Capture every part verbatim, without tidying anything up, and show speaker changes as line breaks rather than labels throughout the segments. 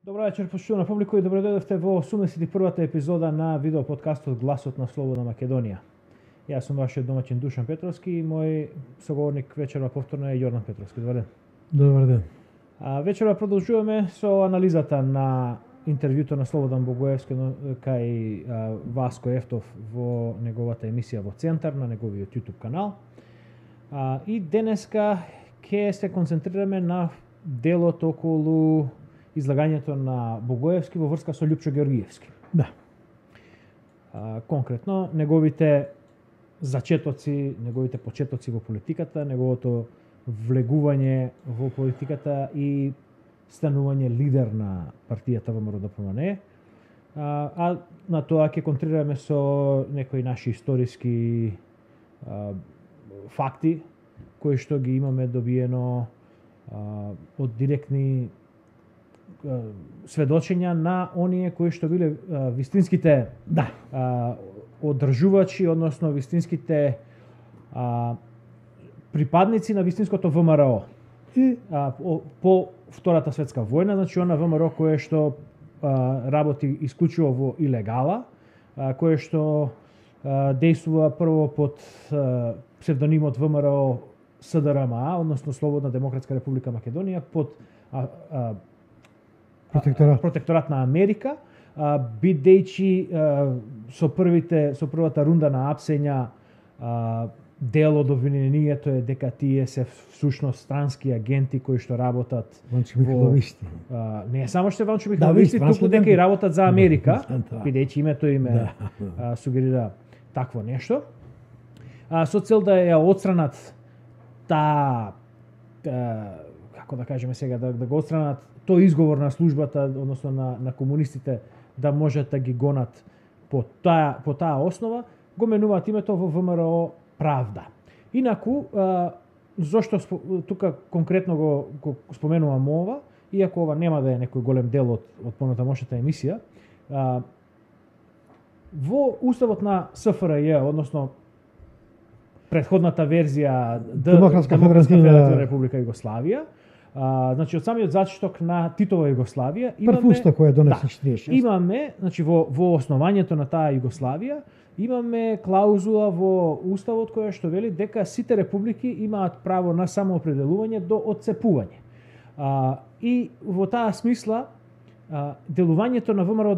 Добро вечер, почитувана публика, и добро дојдовте во осумдесет и првата епизода на видео подкастот Гласот на Слободна Македонија. Јас сум вашиот домаќин Душан Петровски и мој соговорник вечерва повторно е Јордан Петровски. Добар ден.
Добар ден.
А, вечерва продолжуваме со анализата на интервјуто на Слободан Богоевски кај а, Васко Ефтов во неговата емисија во Центар на неговиот YouTube канал. А, и денеска ќе се концентрираме на делот околу излагањето на Богоевски во врска со Љупчо Георгиевски.
Да.
А, конкретно, неговите зачетоци, неговите почетоци во политиката, неговото влегување во политиката и станување лидер на партијата ВМРО Д П М Н. А, а на тоа ќе контрираме со некои наши историски а, факти, кои што ги имаме добиено а, од директни сведочења на оние кои што биле а, вистинските
Да.
а, одржувачи, односно вистинските а, припадници на вистинското В М Р О.
И
А, по, по Втората светска војна, значи она В М Р О кое што а, работи исклучиво во илегала, а, кое што а, действува прво под а, псевдонимот В М Р О С Д Р М А, односно Слободна демократска република Македонија, под а, а,
протекторат.
протекторат на Америка, а, бидејќи а, со првите со првата рунда на апсења а, дел од обвинението е дека тие се всушност странски агенти кои што работат
Ванчо Михайловисти.
а, не само што Ванчо Михайловисти,
Да,
туку дека и работат за Америка,
Да.
бидејќи името им е,
Да.
а, сугерира такво нешто. А, со цел да ја отстранат таа како да кажеме сега, да, да го отстранат тој изговор на службата, односно на, на комунистите, да можат да ги гонат по таа, по таа основа, го менуваат името во В М Р О Правда. Инаку, а, зошто тука конкретно го, го споменувам ова, иако ова нема да е некој голем дел од, од понатамошната емисија, а, во уставот на С Ф Р Ј, односно претходната верзија Д,
Демократска
Демократска
федеративна
федеративна република Југославија, а, значи од самиот зачеток на Титова Југославија имаме
Прв устав кој ја донесе
да,
четиридесет и шест.
имаме, значи во во основањето на таа Југославија имаме клаузула во уставот која што вели дека сите републики имаат право на самоопределување до отцепување. А, и во таа смисла а, делувањето на В М Р О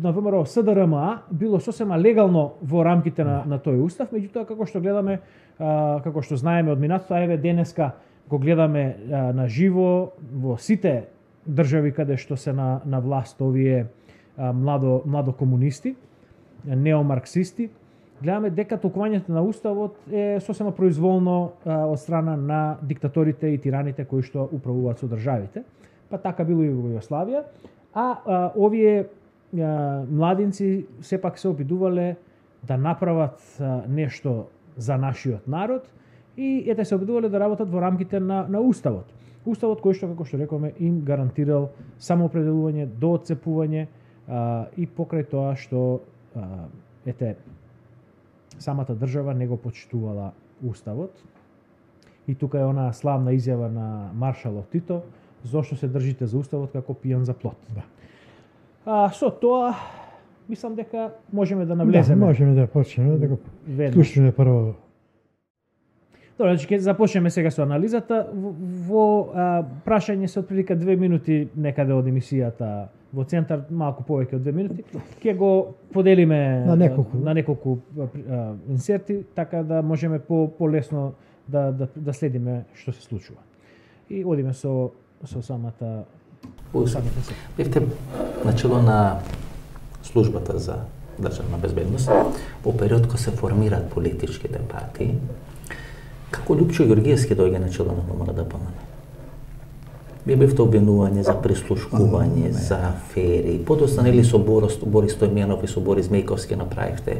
на В М Р О С Д Р М А било сосема легално во рамките на, на тој устав, меѓутоа како што гледаме, а, како што знаеме од минатото, а еве денеска го гледаме а, на живо во сите држави каде што се на, на власт овие а, младо, младо комунисти, неомарксисти, гледаме дека толкувањето на уставот е сосема произволно а, од страна на диктаторите и тираните кои што управуваат со државите. Па така било и во Југославија, а, а овие а, младинци сепак се обидувале да направат а, нешто за нашиот народ и ете се обидувале да работат во рамките на, на уставот. Уставот кој што, како што рекоме, им гарантирал самоопределување до отцепување а, и покрај тоа што а, ете самата држава не го почитувала уставот. И тука е онаа славна изјава на маршалот Тито: зошто се држите за уставот како пијан за плот.
Да.
А со тоа мислам дека можеме да
Да,
навлеземе.
можеме да почнеме да го
веднаш.
слушаме прво.
Добро, значи ќе започнеме сега со анализата. Во, во а, прашање се отприлика две минути некаде од емисијата во Центар, малку повеќе од две минути. Ќе го поделиме
На неколку.
на неколку а, инсерти, така да можеме по полесно да, да да следиме што се случува. И одиме со со самата самите се.
Бевте начело на службата за државна безбедност во период кога се формираат политичките партии. Како Љупчо Георгиевски доаѓа начело на В М Р Д П М Н? Вие бевте обвинување за прислушкување, за афери. Подоцна нели со Борис, Борис Стојменов и со Борис Мејковски направивте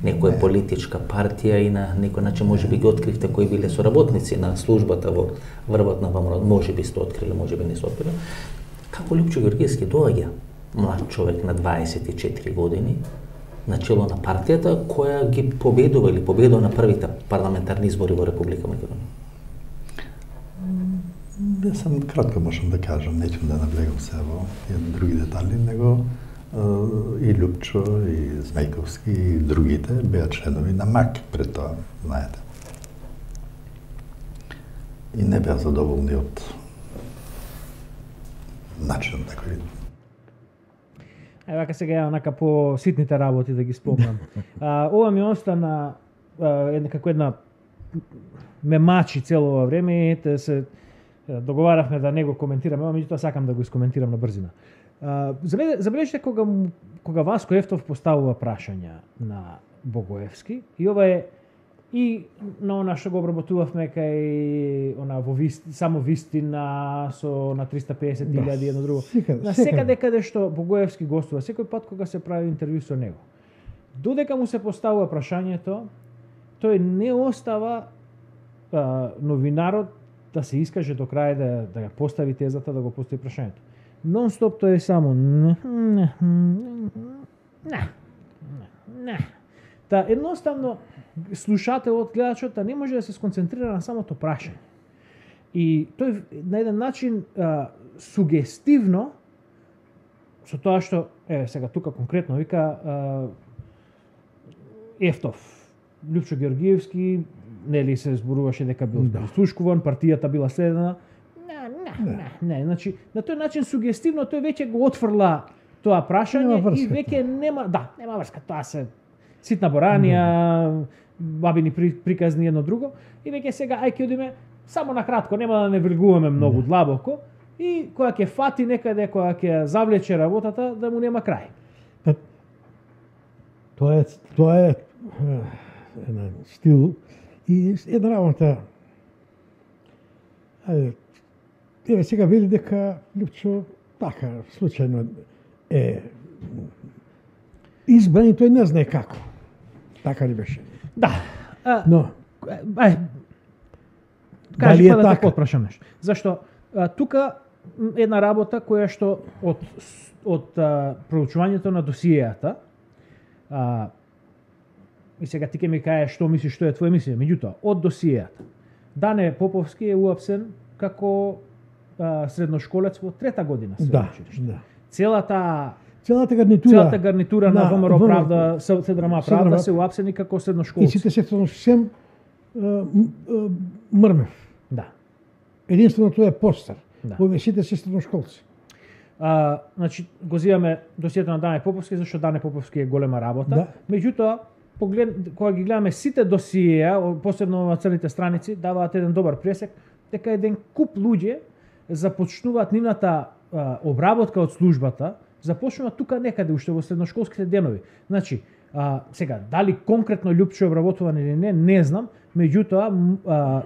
некоја политичка партија и на некој начин можеби ги откривте кои биле соработници на службата во врвот на В М Р О. Можеби сте открили, можеби не сте открили. Како Љупчо Георгиевски доаѓа млад човек на дваесет и четири години начело на партијата која ги победува или победува на првите парламентарни избори во Република Македонија?
Јас сам кратко можам да кажам, неќам да наблегам се во други детали, него и Лупчо, и Змејковски, и другите беа членови на МАК пред тоа, знаете. И не беа задоволни од начинот на кој.
Е, вака сега ја онака по ситните работи да ги спомнам. А, ова ми остана една како една ме мачи цело ова време, ете се договаравме да не го коментираме, ама меѓутоа сакам да го искоментирам на брзина. Забележите кога кога Васко Ефтов поставува прашања на Богоевски, и ова е и на она што го обработувавме кај она во Вист, само Вистина со на триста песет илјади да, едно друго. Секаде, на секаде каде што Богоевски гостува, секој пат кога се прави интервју со него. Додека му се поставува прашањето, тој не остава а, новинарот да се искаже до крај да да ја постави тезата, да го постави прашањето. Нон-стоп тој е само не, не, не, не. Та едноставно слушателот, гледачот не може да се сконцентрира на самото прашање. И тој на еден начин а, сугестивно со тоа што е сега тука конкретно вика а, Ефтов, Лјупчо Георгиевски, нели се зборуваше дека бил да. Слушкуван, партијата била следена. Не, не, не, не, значи на тој начин сугестивно тој веќе го отфрла тоа прашање и веќе нема, да, нема врска, тоа се ситна боранија, бабини приказни едно друго, и веќе сега ај ќе одиме само на кратко, нема да не вргуваме многу длабоко, и кога ќе фати некаде, кога ќе завлече работата, да му нема крај.
Тоа е, тоа е еден стил и една работа. Ајде, еве сега вели дека Лјупчо така случајно е избран и тој не знае како. Така ли беше?
Да. А,
Но
ај кажи па да те потпрашам нешто. Зашто а, тука една работа која што од од а, проучувањето на досиејата, а, и сега ти ке ми кажеш што мислиш, што е твоја мислење, меѓутоа од досиејата Дане Поповски е уапсен како а, средношколец во трета година се
да,
училиште.
Да.
Целата
целата гарнитура
целата гарнитура на, на ВМРО Правда, Седрама Правда
Седрама,
се уапсени како средношколци.
И сите се сем мрмев.
Да.
Единствено тој е постар.
Да.
Овие сите се средношколци.
А, значи го зимаме досието на Дане Поповски, зашто Дане Поповски е голема работа.
Да.
Меѓутоа, поглед кога ги гледаме сите досиеа, посебно на црните страници, даваат еден добар пресек дека еден куп луѓе започнуваат нивната а, обработка од службата, започнуваат тука некаде уште во средношколските денови. Значи, а, сега дали конкретно Лјупчо обработуван или не, не знам, меѓутоа а,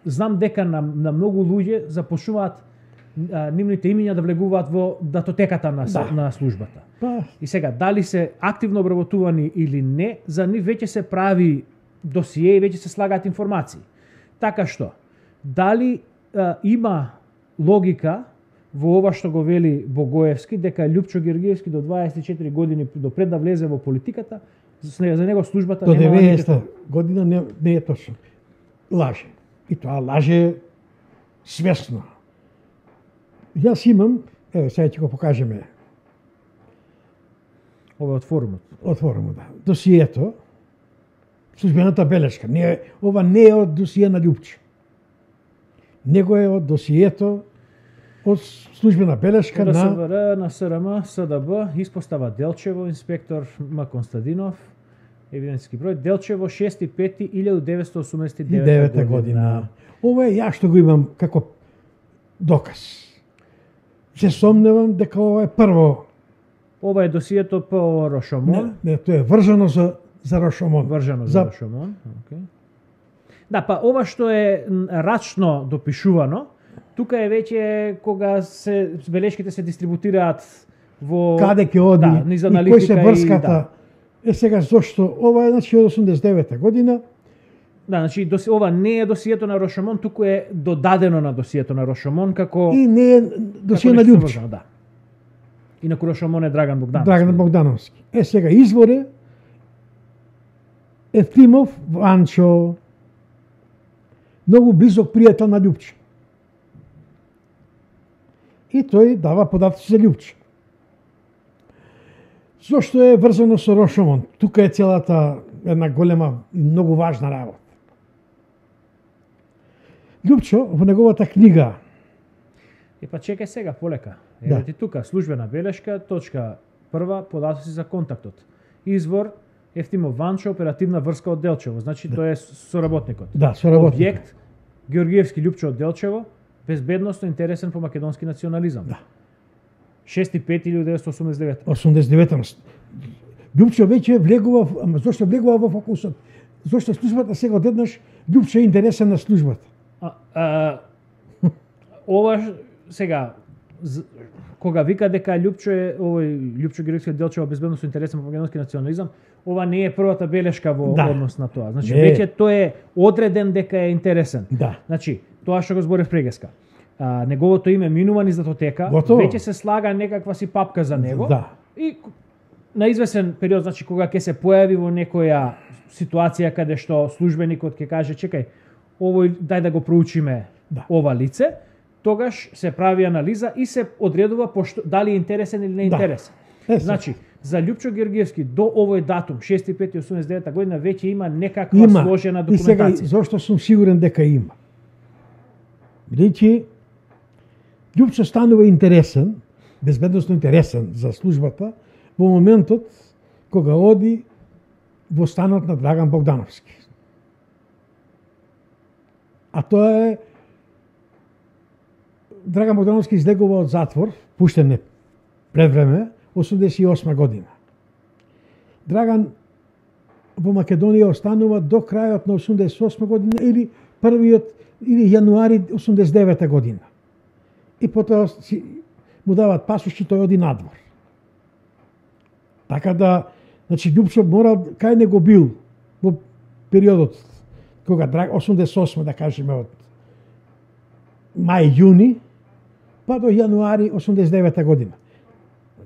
знам дека на, на многу луѓе започнуваат а, нивните имиња да влегуваат во датотеката на, да. на службата.
Па.
И сега, дали се активно обработувани или не, за нив веќе се прави досие и веќе се слагаат информации. Така што, дали а, има логика во ова што го вели Богоевски, дека Лјупчо Георгиевски до дваесет и четири години до пред да влезе во политиката, за него службата
до
нема
деветдесета година не, не е точно. Лаже. И тоа лаже свесно. Јас имам, еве сега ќе го покажеме.
Ова од форумот.
Од форумот, да. Досието, службената белешка. Не, ова не е од досие на Лјупчо. Него е од досието од службена белешка на
ДСВР, на СРМ, СДБ, испостава Делчево, инспектор М. Константинов, евиденцијски број, Делчево шести пети илјаду деветстотини осумдесет и девета година.
Ова е ја што го имам како доказ. Се сомневам дека ова е прво.
Ова е досието по Рошомон.
Не, не, тоа е вржано за за Рошомон.
Вржано за, за Рошомон. Okay. Да, па ова што е рачно допишувано, тука е веќе кога се белешките се дистрибутираат во
каде ќе оди
да,
и кој се врската.
Да.
Е сега зошто ова е значи од осумдесет и девета година.
Да, значи доси, ова не е досието на Рошомон, туку е додадено на досието на Рошомон како
и не е досие на Лјупчо.
Да. Инаку Рошомон е Драган Богдановски.
Драган Богдановски. Е сега изворе Ефтимов Ванчо, многу близок пријател на Лјупчо. И тој дава податоци за Лјупчо. Зошто е врзано со Рошомон? Тука е целата една голема и многу важна работа. Лјупчо во неговата книга.
И па чекај сега полека.
Да.
Еве ти тука службена белешка, точка прва, податоци за контактот. Извор Ефтимо Ванчо, оперативна врска од Делчево. Значи
Да.
тој е соработникот.
Да, соработникот.
Објект Георгиевски Лјупчо од Делчево, безбедносно интересен по македонски национализам.
Да.
шести пети илјада деветстотини осумдесет и девета.
осумдесет и девета. Лјупчо веќе влегува, ама зошто влегува во фокусот? Зошто службата сега одеднаш Лјупчо е интересен на службата.
А, а, ова ш- сега з- кога вика дека Лјупчо е овој Лјупчо Георгиевски од Делчево безбедносно интересен по македонски национализам, ова не е првата белешка во
Да.
однос на тоа. Значи
Не.
веќе тој е одреден дека е интересен.
Да.
Значи, тоа што го зборев прегаска. А, неговото име минува низ датотека,
Готово.
веќе се слага некаква си папка за него.
Да.
И к- на извесен период, значи кога ќе се појави во некоја ситуација каде што службеникот ќе каже чекај, овој дај да го проучиме
Да.
ова лице, тогаш се прави анализа и се одредува пошто, дали е интересен или не е
Да.
интересен.
Е, се.
Значи, за Лјупчо Георгиевски до овој датум, шести пети осумдесет и девета година, веќе има некаква
Има.
сложена
И сега,
документација.
зошто сум сигурен дека има? Бидејќи Лјупчо станува интересен, безбедносно интересен за службата во моментот кога оди во станот на Драган Богдановски. А тоа е Драган Богдановски излегува од затвор, пуштен е пред време, осумдесет и осма година. Драган во Македонија останува до крајот на осумдесет и осма година или првиот или јануари осумдесет и девета година. И потоа си, му дават пасош и тој оди надвор. Така да, значи Лјупчо морал кај него бил во периодот кога Драг осумдесет и осма да кажеме од мај јуни па до јануари осумдесет и девета година.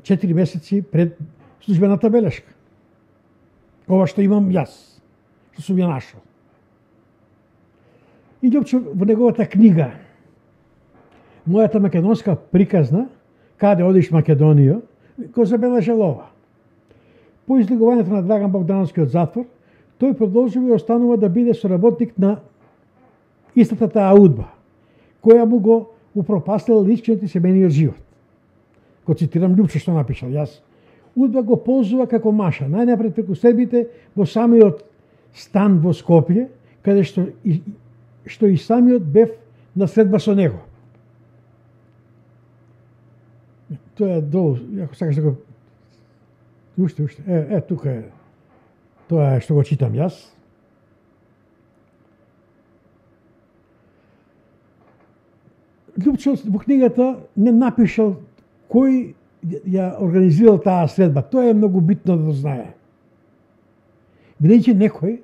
Четири месеци пред службената белешка. Ова што имам јас, што сум ја нашол. И Лјупчо во неговата книга Мојата македонска приказна, каде одиш Македонија, го забележал ова. По излегувањето на Драган Богдановски од затвор, тој продолжува и останува да биде соработник на истата таа удба, која му го упропастила личниот и семејниот живот. Го цитирам Лјупчо што напишал јас. Удба го ползува како маша, најнапред преку себите во самиот стан во Скопје, каде што и, што и самиот бев на средба со него. Тоа е долу, ако сакаш да го... Уште, уште, е, е, тука е. Тоа е што го читам јас. Лјупчо во книгата не напишал кој ја организирал таа средба. Тоа е многу битно да знае. Бидејќи некој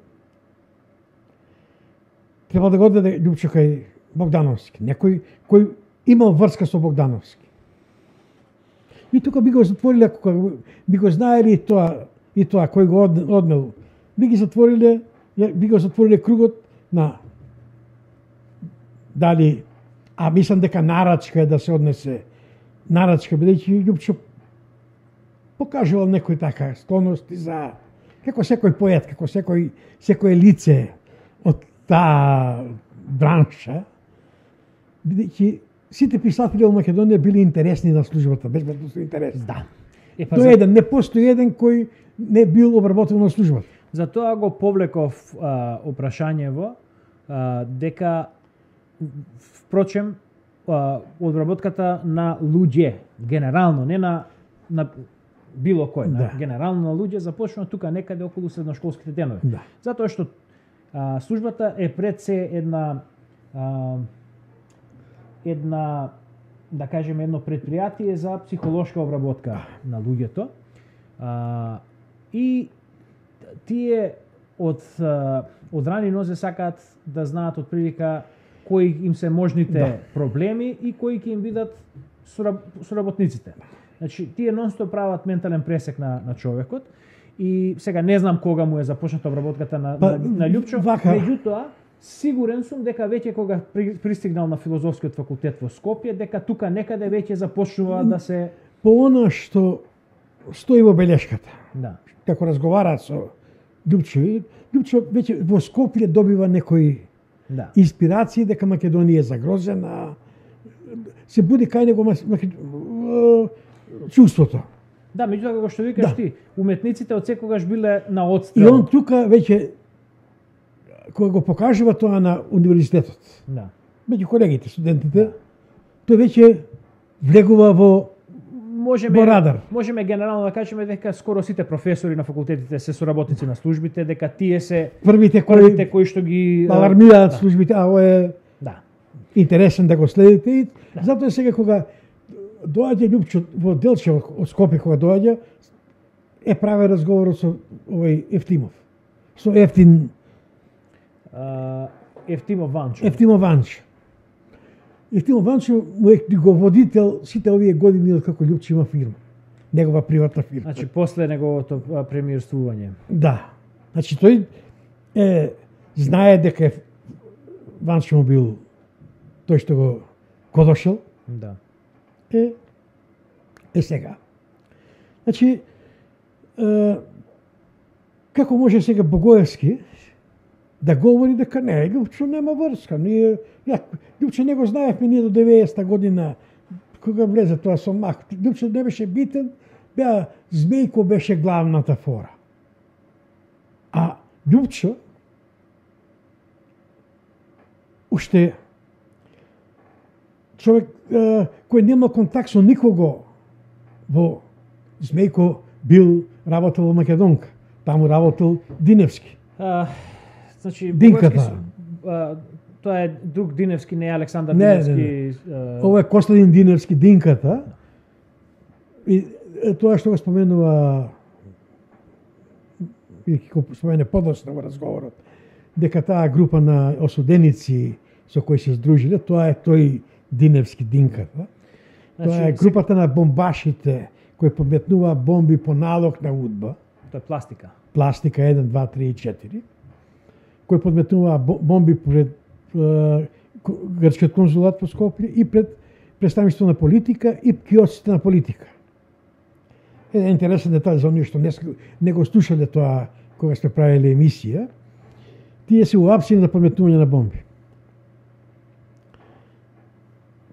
треба да го одведе Лјупчо кај Богдановски. Некој кој имал врска со Богдановски. И тука би го затвориле, ако би го знаели и тоа, и тоа кој го однел, би ги затвориле, би го затвориле кругот на дали, а мислам дека нарачка е да се однесе, нарачка, бидејќи Лјупчо покажувал некој така склонности за, како секој поет, како секој, секој лице од таа бранша, бидејќи сите писатели во Македонија били интересни на службата, безбедносно интересни.
Да. Е, па
Тоа
за,
е еден, не постои еден кој не бил обработен на службата.
за тоа го повлеков а, опрашањево а, дека впрочем а, одработката на луѓе генерално, не на на било кој, на
Да.
генерално на луѓе започнува тука некаде околу средношколските денови.
Да.
Затоа што а, службата е пред се една а, една да кажеме едно предпријатие за психолошка обработка на луѓето. А, и тие од а, од рани нозе сакаат да знаат од прилика кои им се можните
Да.
проблеми и кои ќе им бидат сураб, соработниците. Значи, тие нонстоп прават ментален пресек на, на човекот и сега не знам кога му е започната обработката на,
Па,
на, на Лјупчо,
вака.
меѓутоа, Сигурен сум дека веќе кога при, пристигнал на филозофскиот факултет во Скопје, дека тука некаде веќе започнува да се
по она што стои во белешката.
да.
Како разговараат со Љупчо, Љупчо веќе во Скопје добива некои
Да.
инспирации дека Македонија е загрозена. Се буди кај него мас- маке- чувството.
Да, меѓутоа како што викаш
Да.
ти, уметниците од секогаш биле на
И
одстрел.
он тука веќе кога го покажува тоа на универзитетот,
Да.
меѓу колегите, студентите, тој веќе влегува во
Можеме
Во радар.
можеме генерално да кажеме дека скоро сите професори на факултетите се соработници на службите, дека тие се
првите
првите
кои
кои што ги
алармираат
да.
службите, а ово е
Да.
интересен да го следите. И затоа сега кога доаѓа Љупчо во Делчево од Скопје, кога доаѓа, е праве разговорот со овој Ефтимов. Со Ефтин,
А, Ефтимо Ванчо.
Ефтимов Ванчо. Ефтимов Ванчо му е водител сите овие години од како Љупчо има фирма. Негова приватна фирма.
Значи после неговото а, премиерствување.
Да. Значи тој е знае дека е Ванчо му бил тој што го кодошел.
Да.
Е, е сега. Значи, е, како може сега Богоевски да говори дека не, Љупчо нема врска. Ние, ја, Љупчо не го знаевме ние до деветдесета година, кога влезе тоа со Мак. Љупчо не беше битен, беа Змејко беше главната фора. А Љупчо уште човек е, кој нема контакт со никого во Змејко бил работел во Македонка. Таму работел Диневски.
А, значи
Динката.
Богоевски с- а, тоа е друг Диневски, не е Александар
Не, не,
Диневски. а,
Ова е Костадин Диневски Динката. И е, тоа што го споменува и го спомене подоцна во разговорот, дека таа група на осуденици со кои се здружиле, тоа е тој Диневски Динката. Тоа
Значи,
е групата на бомбашите кои подметнуваа бомби по налог на УДБА,
Тоа е пластика.
пластика еден, два, три и четири, кои подметнуваа бо- бомби пред е, ко- грчкиот конзулат во Скопје и пред представништво на политика и киосците на политика. Еден интересен детај за оние што не, ск- не го слушале тоа кога сме правили емисија, тие се уапсени на подметнување на бомби.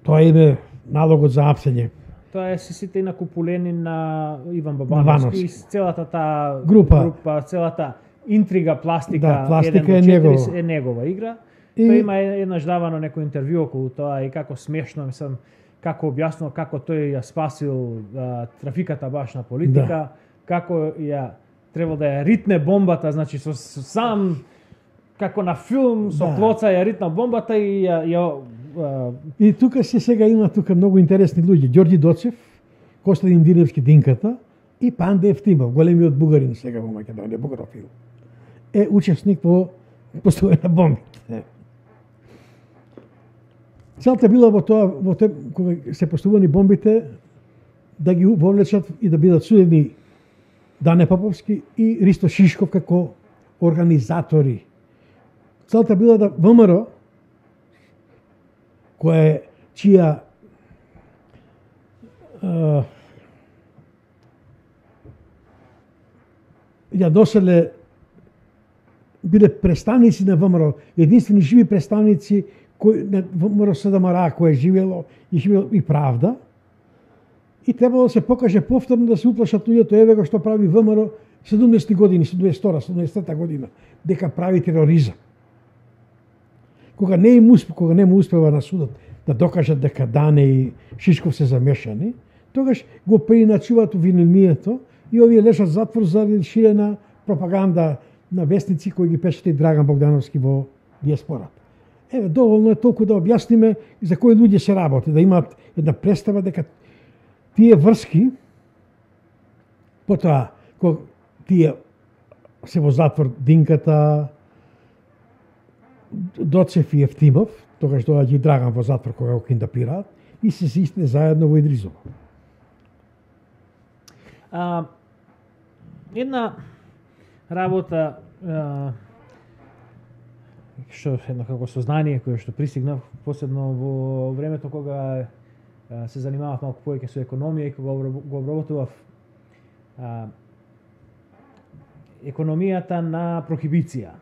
Тоа име налогот за апсење.
Тоа е се сите накупулени на Иван
Бабановски.
Бабановски и целата таа
Група.
група, целата интрига пластика,
Да, пластика
еден до
е
четири
негова.
е негова игра.
И-
Тој има еднаш давано некој интервју околу тоа и како смешно, мислам, како објаснува како тој ја спасил а, трафиката баш на политика,
Да.
како ја требал да ја ритне бомбата, значи со, со сам како на филм со
Да.
плоца ја ритна бомбата и ја, ја а,
И тука се сега има тука многу интересни луѓе. Ѓорѓи Доцев, Костадин Диневски Динката и Панде Ефтимов, големиот бугарин сега во Македонија, бугарофил. Е учесник во поставување на бомбите. Целта била во тоа, во те, кога се поставувани бомбите, да ги вовлечат и да бидат судени Дане Поповски и Ристо Шишков како организатори. Целта била да ВМРО, која е чија а, ја доселе биле представници на ВМРО, единствени живи представници кои на ВМРО СДМР кој е живело и живело и правда. И требало да се покаже повторно да се уплашат луѓето, еве го што прави ВМРО седумдесети години, седумдесет и втора, седумдесета година, дека прави тероризам. Кога не им успе, кога не му успева на судот да докажат дека Дане и Шишков се замешани, тогаш го преиначуваат обвинението и овие лежат затвор заради ширена пропаганда на вестници кои ги печати Драган Богдановски во диаспората. Еве, доволно е толку да објасниме за кои луѓе се работи, да имаат една представа дека тие врски, потоа, кога тие се во затвор Динката, Доцев и Ефтимов, тогаш доаѓа и Драган во затвор кога го киндапираат, и се сисне заедно во Идризово.
А, една работа а, што едно како сознание кое што пристигнав посебно во времето кога а, се занимавав малку повеќе со економија и кога го обработував а, економијата на прохибиција.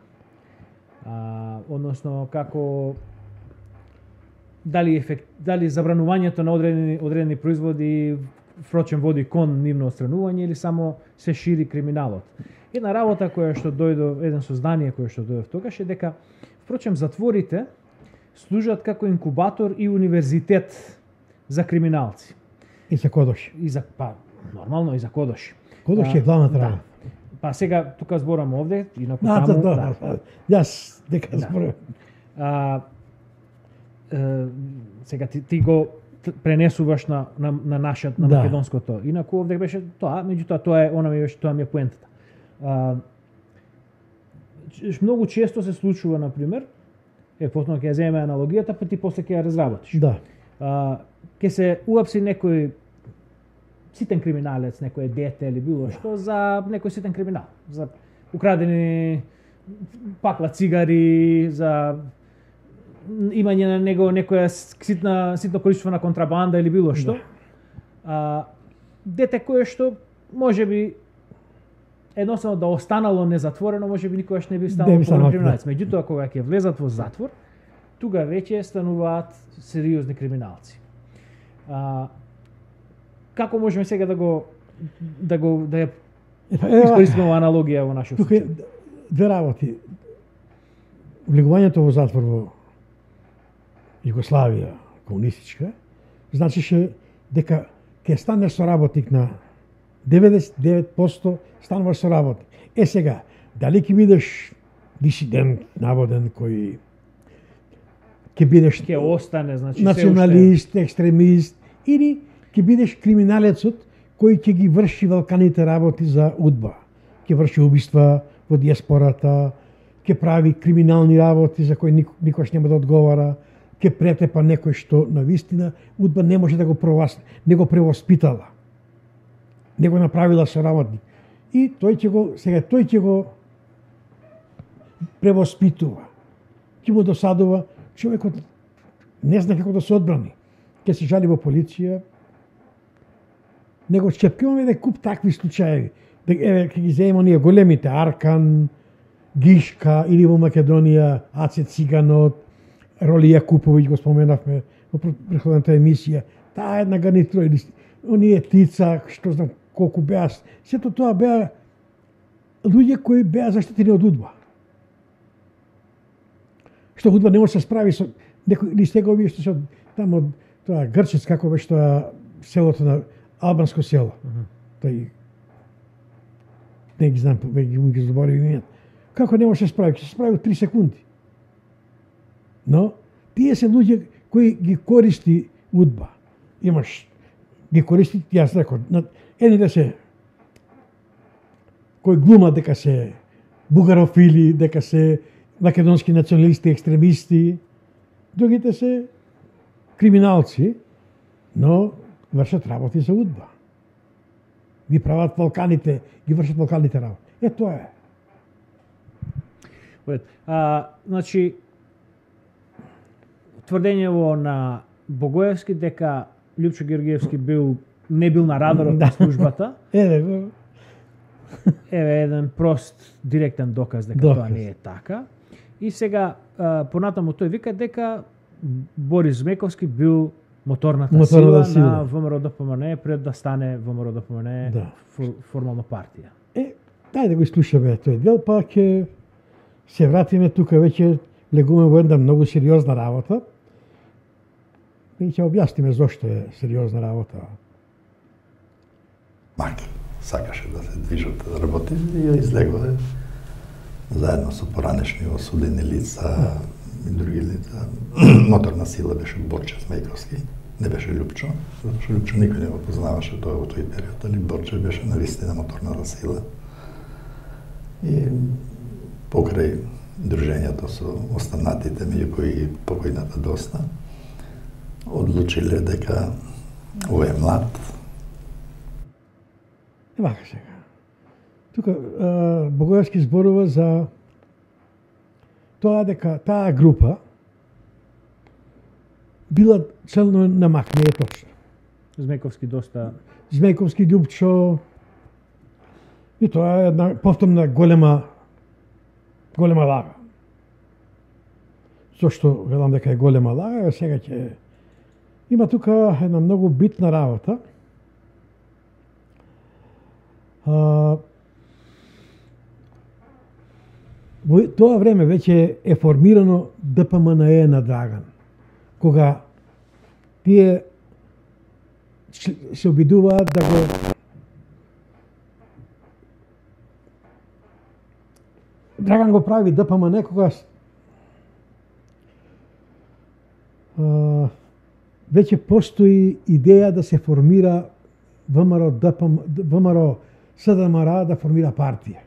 А, односно како дали ефект, дали забранувањето на одредени одредени производи впрочем води кон нивно отстранување или само се шири криминалот. Една работа која што дојде, еден сознание која што дојде тогаш е дека впрочем затворите служат како инкубатор и универзитет за криминалци.
И за кодоши.
И за па нормално и за кодоши.
Кодоши е главната работа.
Да. Па сега тука зборам овде, инаку
да,
таму.
Да, да, да. Јас дека зборам.
А, е, сега ти, ти го пренесуваш на на на нашиот на
да.
македонското. Инаку овде беше тоа, меѓутоа тоа е она ми беше тоа ми е поентата. А, многу често се случува на пример, е потоа ќе ја земеме аналогијата, па ти после ќе ја разработиш.
Да.
А, ќе се уапси некој ситен криминалец, некој дете или било што за некој ситен криминал, за украдени пакла цигари, за имање на него некоја ситна ситно количество на контрабанда или било што. Да. А, дете кое што можеби едноставно да останало незатворено, можеби никогаш не би станало голем криминалец. Да. Меѓутоа кога ќе влезат во затвор, тука веќе стануваат сериозни криминалци. А, како можеме сега да го да го да ја искористиме во аналогија во нашиот случај?
Тука две работи. Влегувањето во затвор во Југославија комунистичка значише дека ќе станеш соработник на деветдесет и девет проценти стануваш соработник. Е сега, дали ќе бидеш дисидент, наводен, кој ќе бидеш
ќе остане, значи
националист, уште... екстремист, или ќе бидеш криминалецот кој ќе ги врши велканите работи за удба. Ќе врши убиства во диаспората, ќе прави криминални работи за кои никош нема да одговара, ќе претепа некој што на вистина удба не може да го провас, не го превоспитала. Не го направила соработник. И тој ќе го, сега тој ќе го превоспитува. Ќе му досадува, човекот не зна како да се одбрани. Ќе се жали во полиција, него чепкиваме да куп такви случаи. Еве, ќе ги земеме ние големите, Аркан, Гишка, или во Македонија, Аце Циганот, Роли Јакуповиќ, го споменавме во претходната емисија. Таа една гарнитура, или оние Тица, што знам колку беа, сето тоа беа луѓе кои беа заштитени од удба. Што удба не може да се справи со некои или сега овие што се таму од тоа Грчец, како беше тоа селото на албанско село. Uh -huh. Тој не ги знам, веќе ги заборив името. Како не може да се справи? Ќе се справи од три секунди. Но тие се луѓе кои ги користи удба. Имаш ги користи, јас реков, едни да се кои глумат дека се бугарофили, дека се македонски националисти, екстремисти, другите се криминалци, но вршат работи за удба. Ги прават Балканите, ги вршат Балканите работи. Е, тоа е.
А, значи, тврдењево на Богоевски дека Лјупчо Георгиевски бил не бил на радарот на службата.
Еве го.
Еве еден прост директен доказ дека доказ. Тоа не е така. И сега понатаму тој вика дека Борис Змековски бил моторната, моторната сила, сила на ВМРО ДПМН пред да стане ВМРО ДПМН да. фор, формално партија.
Е, дај да го слушаме тој дел, па ќе се вратиме тука веќе влегуваме во една многу сериозна работа. И ќе објасниме зошто е сериозна работа.
Маки сакаше да се движат да работи и ја излегува заедно со поранешни осудени лица и други лица. Моторна сила беше Борче Змејковски, не беше Лјупчо, затоа што Лјупчо никој не го познаваше тоа во тој период, али Борче беше навистина моторната сила. И покрај дружењето со останатите, меѓу кои покојната доста, одлучиле дека овој е млад.
Вака сега. Тука Богоевски зборува за тоа дека таа група била целно на мак, не е точно.
Змејковски доста...
Змејковски, Љупчо, и тоа е една повторна голема голема лага. Зошто велам дека е голема лага, сега ќе има тука една многу битна работа. А, во тоа време веќе е формирано Д П М Н Е на Драган. Кога тие се обидуваат да го Драган го прави Д П М Н Е кога а, веќе постои идеја да се формира ВМРО Д П М ВМРО С Д М Р да формира партија.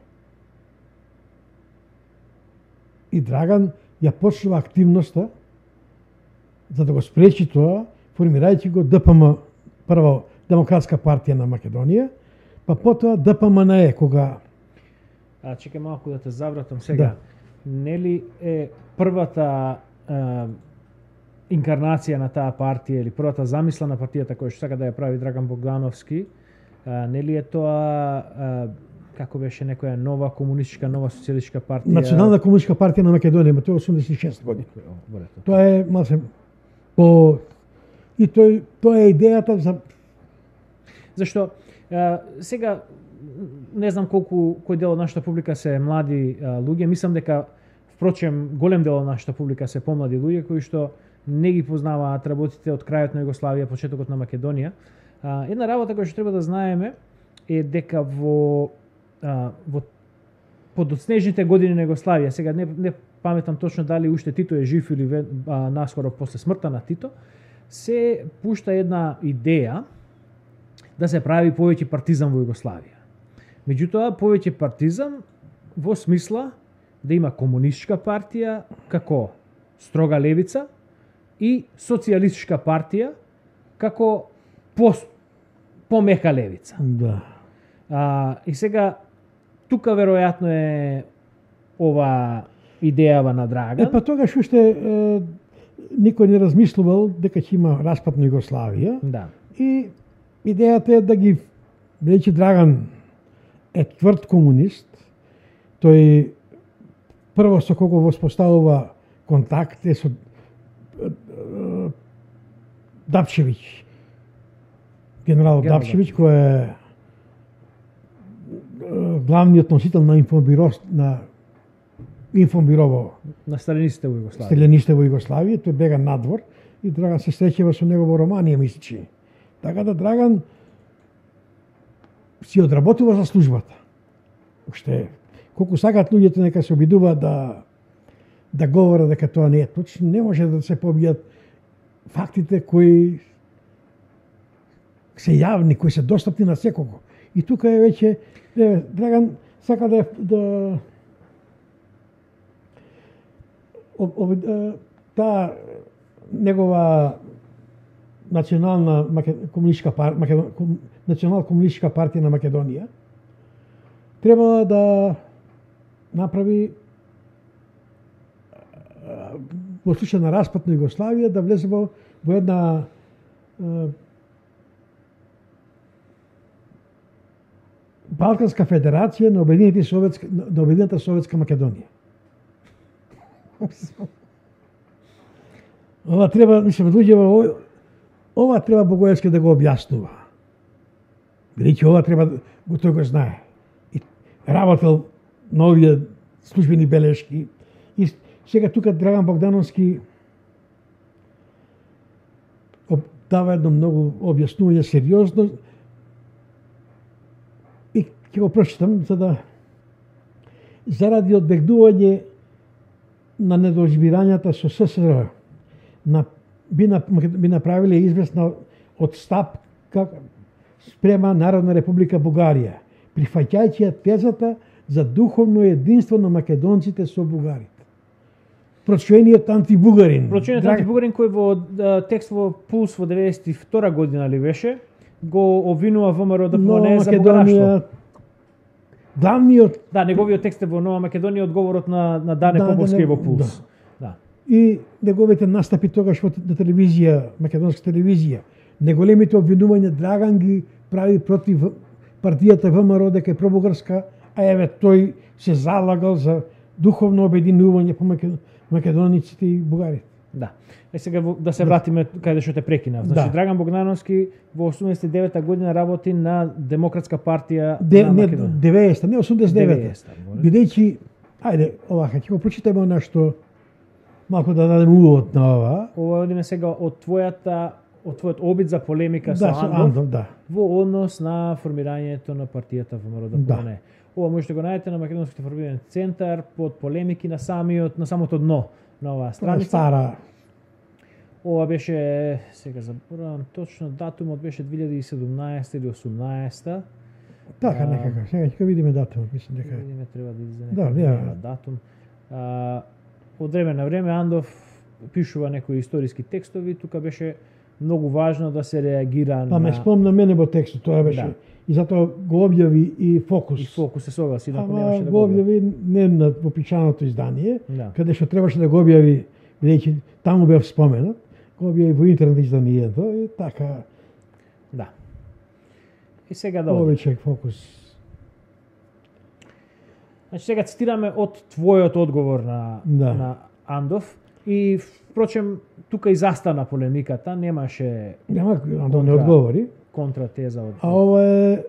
И Драган ја почнува активноста за да го спречи тоа, формирајќи го Д П М, прво Демократска партија на Македонија, па потоа Д П М Н Е, кога...
А, чекај малку да те завратам сега. Да. Нели е првата е, инкарнација на таа партија или првата замисла на партијата која што сака да ја прави Драган Богдановски, е, нели е тоа е, како беше некоја нова комунистичка, нова социјалистичка партија?
Национална комунистичка партија на Македонија, тоа е осумдесет и шеста година. Тоа е малце по и тој тоа е идејата за
зашто е, сега не знам колку кој дел од нашата публика се млади е, луѓе, мислам дека впрочем голем дел од нашата публика се помлади луѓе кои што не ги познаваат работите од крајот на Југославија, почетокот на Македонија. А, една работа која што треба да знаеме е дека во а, во подоцнежните години на Југославија, сега не, не паметам точно дали уште Тито е жив или а, наскоро после смртта на Тито, се пушта една идеја да се прави повеќе партизам во Југославија. Меѓутоа, повеќе партизам во смисла да има комунистичка партија како строга левица и социјалистичка партија како по, помека левица.
Да.
А, и сега, тука веројатно е ова идејава на Драган.
Е, па тогаш уште е, никој не размислувал дека ќе има распад на Југославија.
Да.
И идејата е да ги, бидејќи Драган е тврд комунист, тој прво со кого воспоставува контакт е со Дапчевиќ, генерал Дапчевиќ, кој е главниот носител на инфобиро на инфобирово
на сталинистите во Југославија.
Сталинистите во Југославија, тој бега надвор и Драган се среќава со него во Романија, мисличи. Така да Драган си одработува за службата. Уште колку сакаат луѓето нека се обидуваат да да говорат дека тоа не е точно, не може да се побијат фактите кои се јавни, кои се достапни на секого. И тука е веќе е, Драган сака да да об, об, таа негова национална комунистичка партија, национална комунистичка партија на Македонија требала да направи во случај на распад на Југославија да влезе во, во една е, Балканска федерација на Обединените советска на Обединета советска Македонија. Ова треба, мислам, луѓе ова треба Богоевски да го објаснува. Бидејќи ова треба го тој го знае. И работел на овие службени белешки и сега тука Драган Богдановски дава едно многу објаснување сериозно и ќе го прочитам за да заради одбегнување на недоразбирањата со С С Р на би, на, би направиле известна отстапка спрема Народна република Бугарија, прифаќајќи ја тезата за духовно единство на македонците со бугарите. Прочуениот антибугарин.
Прочуениот Драг... антибугарин кој во да, текст во Пулс во деветдесет и втора година ли беше, го обвинува ВМРО да
Но
не за бугараштво.
главниот
Да, неговиот текст е во Нова Македонија, одговорот на на Дане
Да,
Поповски
да,
е во Пулс.
да.
Да.
и неговите настапи тогаш во на телевизија, македонска телевизија, неголемите обвинувања Драган ги прави против партијата ВМРО дека е пробугарска, а еве тој се залагал за духовно обединување по македониците и бугарите.
Да. Е сега во- да се вратиме каде што те прекинав. Значи
Да.
Драган Богдановски во осумдесет и девета година работи на Демократска партија
Де,
на
не
Македонија.
деветдесета, не осумдесет и девета.
деветдесета, може.
Бидејќи, ајде, овака, ќе го прочитаме нешто малку да дадеме увод на ова.
Ова одиме сега од твојата од твојот обид за полемика со
Да, со
Андов,
Андов, да.
во однос на формирањето на партијата ВМРО
Да.
ДПМН. Ова можете го најдете на Македонскиот информативен центар под полемики на самиот на самото дно на оваа
Тоа е
страница.
стара.
Ова беше, сега заборавам точно датумот, беше две илјади и седумнаесета или осумнаесета.
Така
А,
некако. Сега ќе го видиме датумот, мислам дека.
Видиме, треба да излезе
Да,
некој
ја.
датум. А, од време на време Андов пишува некои историски текстови, тука беше многу важно да се реагира
Па ме
на
спомна мене во текстот, тоа беше.
Да.
И затоа го објави и Фокус.
и фокус се согласи, инаку
Ама
немаше да
го
го објави.
објави не на вопичаното издание,
Да.
каде што требаше да го објави, бидејќи таму бев споменат, го објави во интернет изданието и така
Да. И сега да одиме.
повеќе Фокус.
Значи сега цитираме од твојот одговор на
Да.
на Андов и впрочем тука и застана полемиката, немаше
Нема Андон не
Контра.
одговори,
контратеза од
а ова е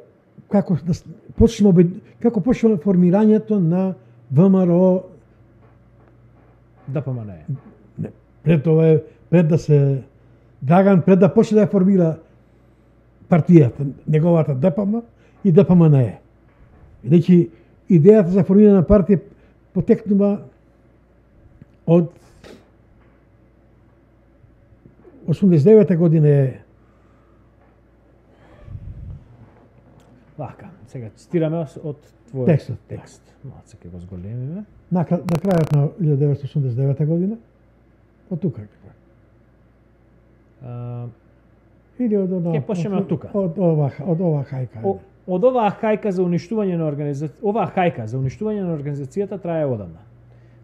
како да с- почнеме обед- како почнеме формирањето на ВМРО
ДПМН.
не, пред ова е пред да се Драган пред да почне да ја формира партијата, неговата ДПМ и ДПМН. Бидејќи идејата за формирање на партија потекнува од осумдесет и девета година е
Вака, сега цитираме од твојот
Текстот, да.
текст. Малце ќе го зголемиме.
на, кра- на крајот на илјада деветстотини осумдесет и девета година, од тука.
А,
Или од, од,
Ќе почнеме од тука.
Од ова, од ова хајка.
О, од оваа хајка за уништување на организација, оваа хајка за уништување на организацијата трае одамна.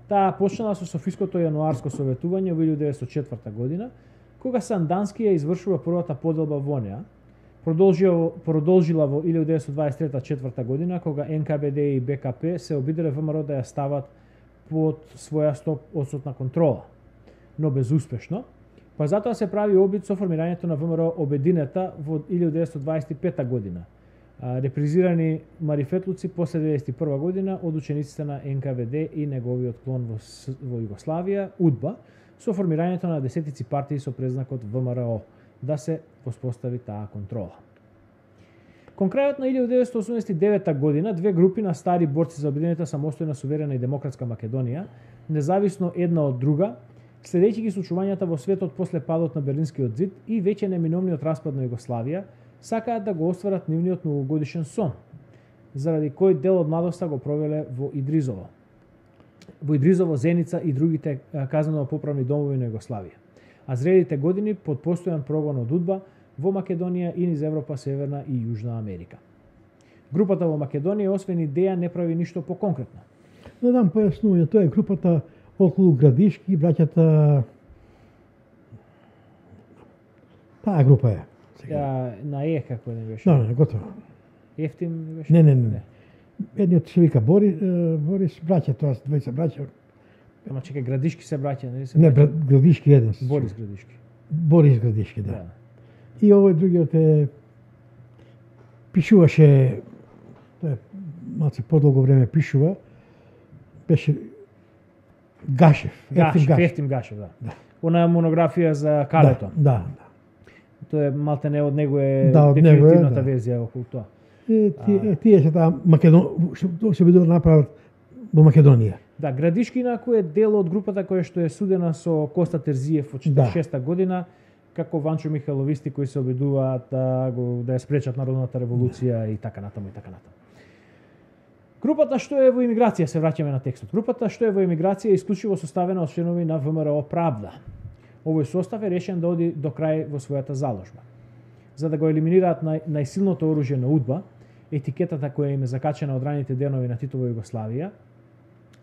Таа почнала со Софиското јануарско советување во илјада деветстотини и четврта година, кога Сандански ја извршува првата поделба во неа, продолжила, продолжила во илјада деветстотини дваесет и трета четврта година, кога Ен Ка Бе Де и Бе Ка Пе се обиделе ВМРО да ја стават под своја сто одстотна контрола, но безуспешно, па затоа се прави обид со формирањето на ВМРО Обединета во илјада деветстотини дваесет и пета година, а, репризирани марифетлуци после деветдесет и прва година од учениците на Ен Ка Ве Де и неговиот клон во, С- во Југославија, УДБА, со формирањето на десетици партии со презнакот Вэ Ем Ер О, да се воспостави таа контрола. Кон крајот на илјада деветстотини осумдесет и девета година, две групи на стари борци за обединета самостојна, суверена и демократска Македонија, независно една од друга, следејќи ги случувањата во светот после падот на Берлинскиот зид и веќе неминовниот распад на Југославија, сакаат да го остварат нивниот многогодишен сон, заради кој дел од младоста го провеле во Идризово. Во Идризово, Зеница и другите а, казнено-поправни домови на Југославија. А зрелите години под постојан прогон од УДБА во Македонија и низ Европа, Северна и Јужна Америка. Групата во Македонија, освен идеја, не прави ништо поконкретно.
Да дам појаснување, тоа е групата околу Градишки, браќата таа група е. Сега.
Ја, на Е, како не беше?
Да, не, готово.
Ефтим не беше?
Не, не, не. Едниот се вика Бори, е, Борис, браќа, тоа се двајца браќа.
Ама чекај, Градишки се браќа, нели се?
Не,
браќа?
брат, Градишки еден. се
Борис
чува.
Градишки.
Борис Градишки, да.
Да.
И овој другиот е пишуваше, тоа е малце подолго време пишува, беше Гашев, Ефтим
Гашев,
Гашев.
Ефтим Гашев, да. Она монографија за Калето.
Да, да, да.
Тоа е малте не од него е
Да, од него е,
дефинитивната
да.
верзија околу тоа.
Е, тие, е, тие се таа Македон, што се бидува направат во Македонија.
Да, Градишки инаку е дел од групата која што е судена со Коста Терзиев во четиридесет и шеста година, како Ванчо Михайловисти кои се обидуваат да го да ја спречат народната револуција и така натаму и така натаму. Групата што е во емиграција, се враќаме на текстот. Групата што е во емиграција е исклучиво составена од членови на Вэ Ем Ер О Правда. Овој состав е решен да оди до крај во својата заложба. За да го елиминираат нај, најсилното оружје на УДБА, етикетата која им е закачена од раните денови на Титова Југославија,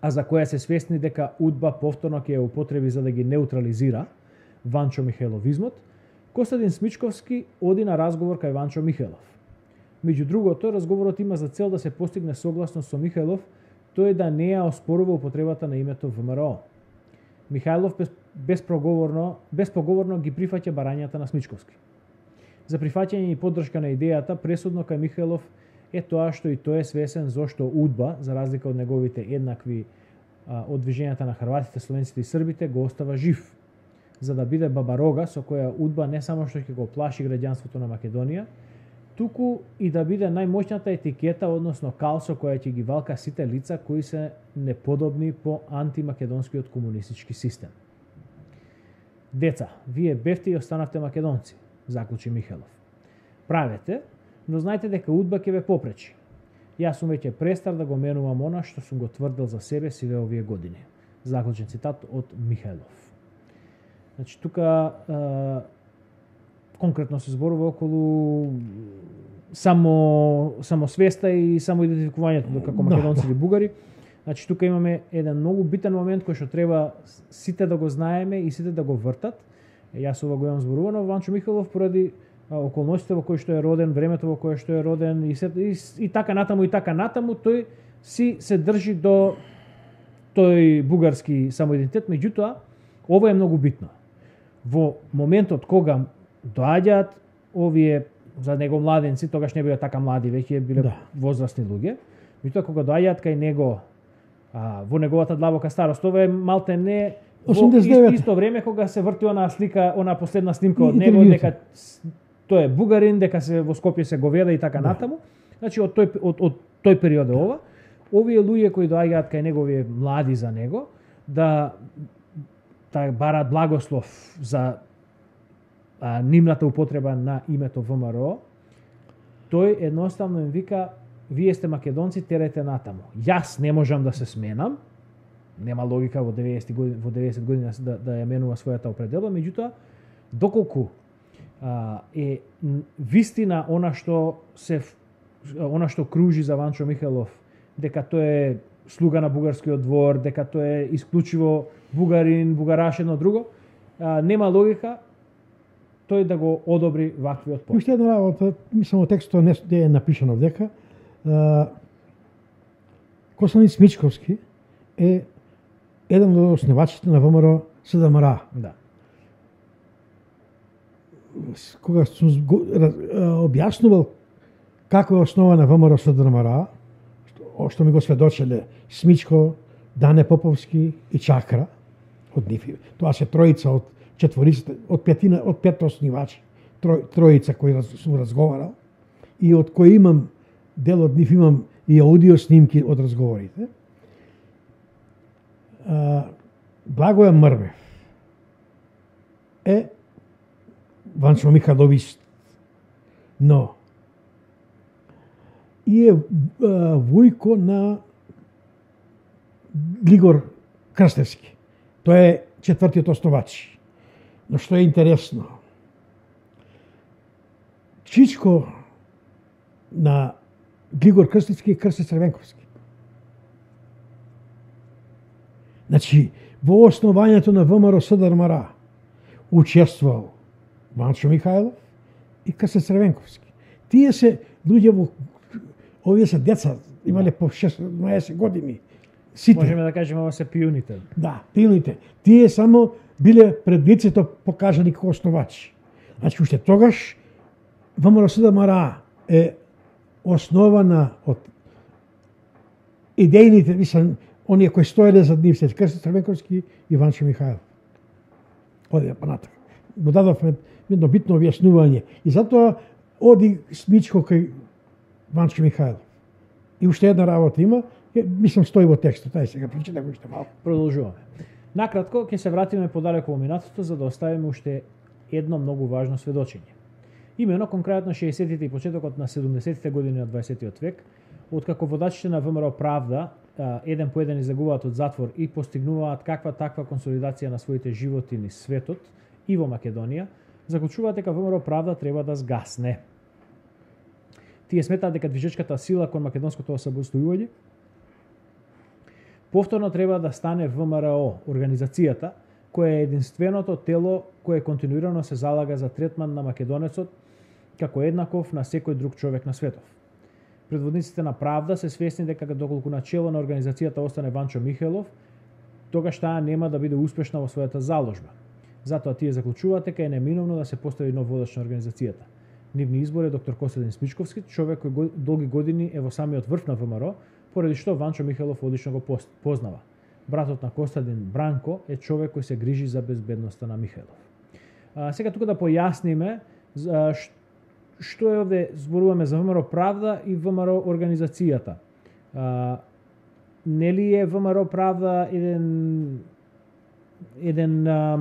а за која се свесни дека УДБА повторно ќе ја употреби за да ги неутрализира Ванчо Михајловизмот, Костадин Смичковски оди на разговор кај Ванчо Михајлов. Меѓу другото, разговорот има за цел да се постигне согласност со Михајлов, тој да не ја оспорува употребата на името ВМРО. Михајлов без, безпроговорно, безпоговорно ги прифаќа барањата на Смичковски. За прифаќање и поддршка на идејата, пресудно кај Михајлов е тоа што и тој е свесен зошто УДБА, за разлика од неговите еднакви а, од движењата на хрватите, словенците и србите, го остава жив, за да биде бабарога со која УДБА не само што ќе го плаши граѓанството на Македонија, туку и да биде најмоćната етикета, односно кал со која ќе ги валка сите лица кои се неподобни по антимакедонскиот комунистички систем. Деца, вие бевте и останавте македонци, заклучи Михајлов. Правете, но знајте дека УДБА ќе ве попречи. Јас сум веќе престар да го менувам она што сум го тврдел за себе сиве овие години. Заклучен цитат од Михајлов. Значи, тука е, конкретно се зборува околу само самосвеста и самоидентификувањето како македонци или бугари. Значи, тука имаме еден многу битен момент кој што треба сите да го знаеме и сите да го вртат. Јас ова го имам зборувано, Ванчо Михајлов поради околностите во кои што е роден, времето во кое што е роден и, се, и, и така натаму и така натаму, тој си се држи до тој бугарски самоидентитет, меѓутоа ова е многу битно. Во моментот кога доаѓаат овие за него младенци, тогаш не биле така млади, веќе биле да. возрастни луѓе, меѓутоа кога доаѓаат кај него а, во неговата длабока старост, ова е малте не во исто, исто време кога се врти она слика, она последна снимка од него, дека тој е бугарин, дека се во Скопје се говеда и така да. натаму. Значи од тој од, од тој период е ова. Овие луѓе кои доаѓаат кај него, овие млади за него, да да бараат благослов за а, нивната употреба на името ВМРО, тој едноставно им вика: вие сте македонци, терете натаму. Јас не можам да се сменам. Нема логика во деветдесет години, во деветдесет години да, да ја менува својата определба, меѓутоа доколку а, е вистина она што се она што кружи за Ванчо Михајлов, дека тој е слуга на бугарскиот двор, дека тој е исклучиво бугарин, бугараш едно друго, а, нема логика тој да го одобри ваквиот пост.
Уште една работа, мислам во текстот не е напишано дека Костадин Смичковски е еден од основачите на ВМРО СДМР.
Да.
Кога сум објаснувал како е основана ВМРО СДМР, што, што ми го сведочеле Смичко, Дане Поповски и Чакра, од нив. Тоа се тројица од четворицата, од петина, од пет основачи, трој, тројица кои сум разговарал и од кои имам дел од нив имам и аудио снимки од разговорите. А, Благоја Мрвев е Ванчо Михајловист, но и е а, вујко на Глигор Крстевски. Тој е четвртиот основач. Но што е интересно, чичко на Глигор Крстевски и Крсте Црвенковски. Значи, во основањето на ВМРО СДМР учествувал Ванчо Михајлов и Крсте Црвенковски. Тие се луѓе во овие се деца, имале по шеснаесет години. Сите.
Можеме да кажеме ова се пионите.
Да, пионите. Тие само биле пред лицето покажани како основачи. Значи, уште тогаш ВМРО СДМР е основана од идејните, мислам, оние кои стоеле зад нив, се Крсте Црвенковски и Ванчо Михајлов. Оди понатака. Го дадовме едно битно објаснување. И затоа оди Смичко кај Ванчо Михајлов. И уште една работа има, мислам стои во текстот, тај сега прочита го уште малку.
Продолжуваме. Накратко ќе се вратиме подалеку во минатото за да оставиме уште едно многу важно сведочење. Имено конкретно шеесеттите и почетокот на седумдесеттите години на дваесеттиот век, откако водачите на ВМРО Правда еден по еден излегуваат од затвор и постигнуваат каква таква консолидација на своите животи низ светот и во Македонија, заклучуваат дека ВМРО Правда треба да сгасне. Тие сметаат дека движечката сила кон македонското освободување повторно треба да стане В М Р О, организацијата која е единственото тело кое континуирано се залага за третман на македонецот како еднаков на секој друг човек на светов. Предводниците на Правда се свесни дека доколку начело на организацијата остане Ванчо Михелов, тогаш таа нема да биде успешна во својата заложба. Затоа тие заклучуваат дека е неминовно да се постави нов водач на организацијата. Нивни избор е доктор Костадин Смичковски, човек кој долги години е во самиот врв на В М Р О, поради што Ванчо Михелов одлично го познава. Братот на Костадин, Бранко, е човек кој се грижи за безбедноста на Михелов. А, сега тука да појасниме а, што е овде, зборуваме за В М Р О Правда и В М Р О организацијата. А, нели е В М Р О Правда еден еден а,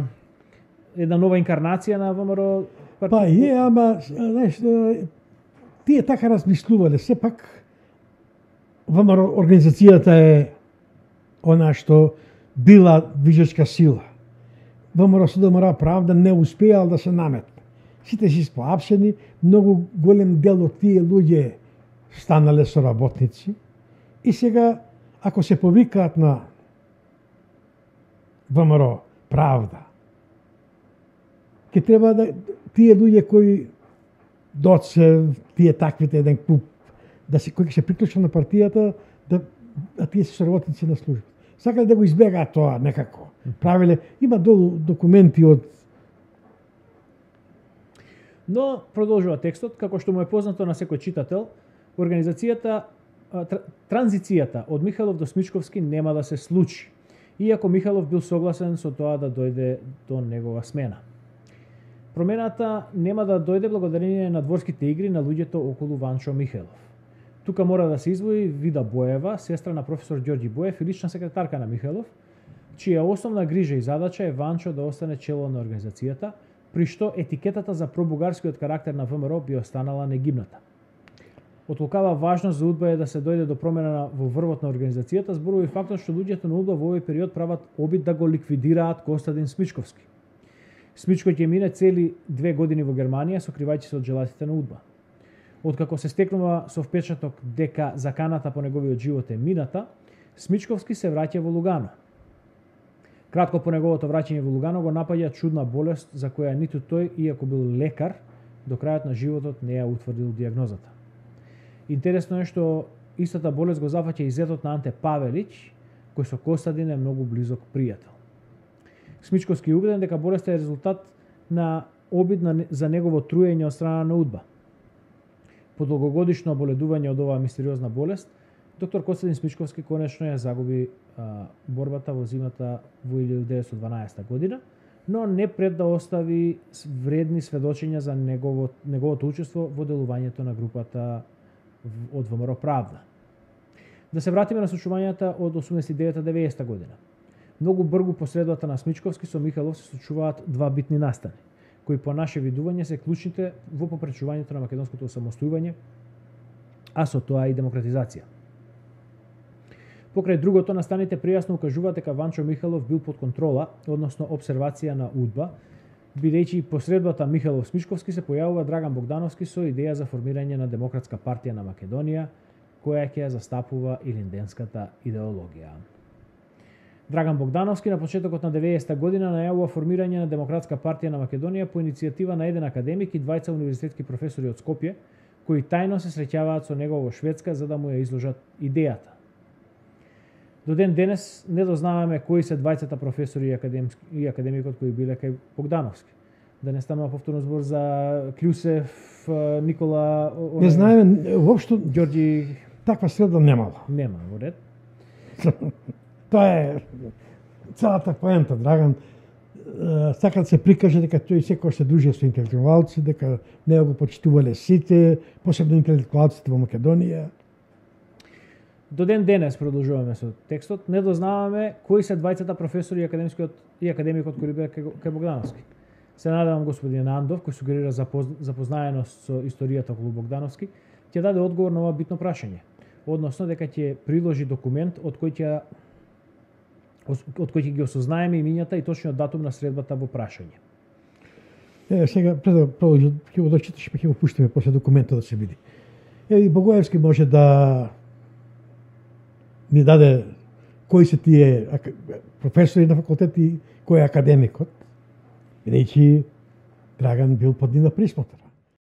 една нова инкарнација на В М Р О?
Па е, ама знаеш, тие така размислувале, сепак В М Р О организацијата е она што била движечка сила. В М Р О С Д М Р О Правда не успеал да се наметне. Сите си споапсени, многу голем дел од тие луѓе станале соработници и сега, ако се повикаат на В М Р О Правда, ќе треба да тие луѓе кои доце, тие таквите еден куп, да се кои ќе се приклучат на партијата, да, да тие се соработници на служба. Сакале да го избегаат тоа некако. Правиле, има долу документи од.
Но продолжува текстот, како што му е познато на секој читател, организацијата, транзицијата од Михелов до Смичковски нема да се случи, иако Михелов бил согласен со тоа да дојде до негова смена. Промената нема да дојде благодарение на дворските игри на луѓето околу Ванчо Михелов. Тука мора да се издвои Вида Боева, сестра на професор Ѓорѓи Боев и лична секретарка на Михелов, чија основна грижа и задача е Ванчо да остане чело на организацијата, при што етикетата за пробугарскиот карактер на В М Р О би останала негибната. Од лукава важност за УДБА е да се дојде до промена во врвот на организацијата, зборува и фактот што луѓето на УДБА во овој период прават обид да го ликвидираат Костадин Смичковски. Смичко ќе мине цели две години во Германија, сокривајќи се од желатите на УДБА. Откако се стекнува со впечаток дека заканата по неговиот живот е мината, Смичковски се враќа во Лугано. Кратко по неговото враќање во Лугано го напаѓа чудна болест за која ниту тој, иако бил лекар, до крајот на животот не ја утврдил дијагнозата. Интересно е што истата болест го зафаќа и зетот на Анте Павелич, кој со Костадин е многу близок пријател. Смичковски е убеден дека болеста е резултат на обид на, за негово труење од страна на УДБА. По долгогодишно оболедување од оваа мистериозна болест, доктор Костадин Смичковски конечно ја загуби а, борбата во зимата во илјадум деветстотини и дванаесета година, но не пред да остави вредни сведочења за негово, неговото учество во делувањето на групата од В М Р О Правда. Да се вратиме на случувањата од осумдесет и девета до деветдесета година. Многу бргу по средбата на Смичковски со Михелов се случуваат два битни настани, кои по наше видување се клучните во попречувањето на македонското осамостојување, а со тоа и демократизација. Покрај другото, настаните пријасно укажуваат дека Ванчо Михелов бил под контрола, односно обсервација на УДБА, бидејќи посредбата Михелов-Смичковски се појавува Драган Богдановски со идеја за формирање на Демократска партија на Македонија, која ќе ја застапува илинденската идеологија. Драган Богдановски на почетокот на деветдесета година најавува формирање на Демократска партија на Македонија по иницијатива на еден академик и двајца универзитетски професори од Скопје, кои тајно се среќаваат со него во Шведска за да му ја изложат идејата. До ден денес не дознаваме кои се двајцата професори и, и академикот кои биле кај Богдановски. Да не станува повторно збор за Клюсев, Никола...
Не знаеме, воопшто
Ѓорѓи...
Таква среда немало.
Нема, во ред.
Тоа е целата поента, Драган. Сака да се прикаже дека тој секој се дружи со интелектуалци, дека не го почитувале сите, посебно интелектуалците во Македонија.
До ден денес продолжуваме со текстот, не дознаваме кои се двајцата професори и академискиот и академикот кои биле кај Богдановски. Се надевам господин Андов, кој сугерира запознаеност со историјата околу Богдановски, ќе даде одговор на ова битно прашање, односно дека ќе приложи документ од кој ќе од кој ќе ги осознаеме имињата и точниот датум на средбата во прашање.
Е, сега пред да продолжи, ќе го дочиташ, па ќе го пуштиме после документот да се види. Е, и Богоевски може да ни даде кои се тие професори на факултет и кој е академикот, бидејќи Драган бил под нив на присмотар.